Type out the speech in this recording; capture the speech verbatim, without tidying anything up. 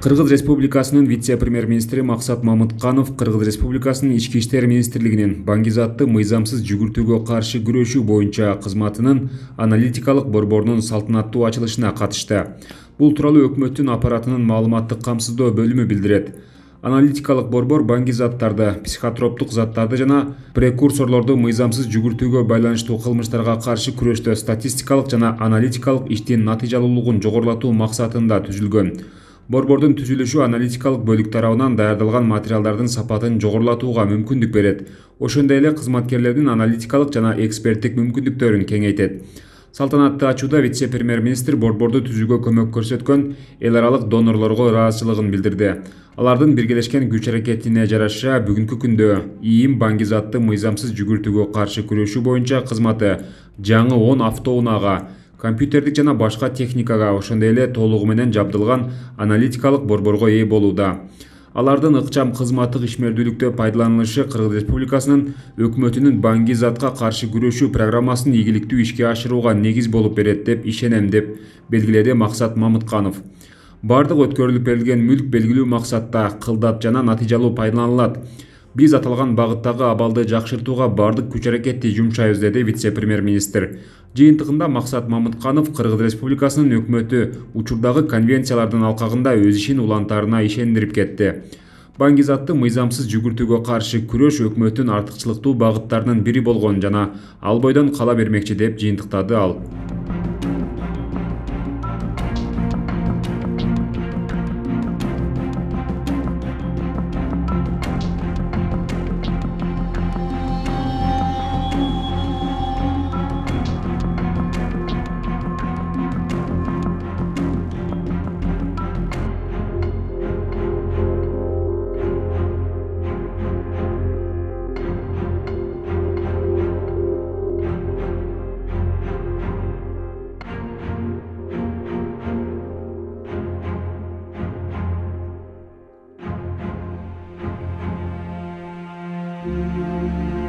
Кыргыз Республикасынын вице-премьер-министри Максат Мамытканов Кыргыз Республикасынын Ички иштер министрлигинин баңгизатты мыйзамсыз жүгүртүүгө каршы күрөшүү боюнча кызматынын аналитикалык борборунун салтанаттуу ачылышына катышты. Бул тууралуу өкмөттүн аппаратынын маалыматтык камсыздоо бөлүмү билдирет. Аналитикалык борбор баңгизаттарды, психотроптук заттарды жана прекурсорлорду мыйзамсыз жүгүртүүгө байланыштуу кылмыштарга каршы күрөштө статистикалык жана аналитикалык иштин натыйжалуулугун жогорулатуу максатында түзүлгөн. Борбордун түзүлүшү аналитикалык бөлүк тарабынан даярдалган материалдардын сапатын жогорулатууга мүмкүндүк берет. Ошондой эле кызматкерлердин аналитикалык жана эксперттик мүмкүндүктөрүн кеңейтет. Салтанатты ачууда вице-премьер-министр борборду түзүүгө көмөк көрсөткөн эл аралык донорлорго ыраазычылыгын билдирди. Алардын биргелешкен күч-аракетине жараша бүгүнкү күндө ИИМ баңгизатты мыйзамсыз жүгүртүүгө каршы күрөшүү боюнча кызматы жаңы он автоунаага, компьютердик жана башка техникага, ошондой эле толугу менен жабдылган аналитикалык борборго ээ болууда. Алардын ыкчам кызматтык ишмердүүлүктө пайдаланылышы Кыргыз Республикасынын өкмөтүнүн баңгизатка каршы күрөшүү программасын ийгиликтүү ишке ашырууга негиз болуп берет деп ишенем, деп белгиледи Максат Мамытканов. Бардык өткөрүлүп берилген мүлк белгилүү максатта кылдат жана натыйжалуу пайдаланылат. Биз аталган багыттагы абалды жакшыртууга бардык күч-аракетти жумшайбыз, деди вице-премьер-министр. Жыйынтыгында Максат Мамытканов Кыргыз Республикасынын өкмөтү учурдагы конвенциялардын алкагында өз ишин улантаарына ишендирип кетти. Баңгизатты мыйзамсыз жүгүртүүгө каршы күрөш өкмөттүн артыкчылыктуу багыттарынын бири болгон жана ал бойдон кала бермекчи, деп жыйынтыктады ал. Thank you.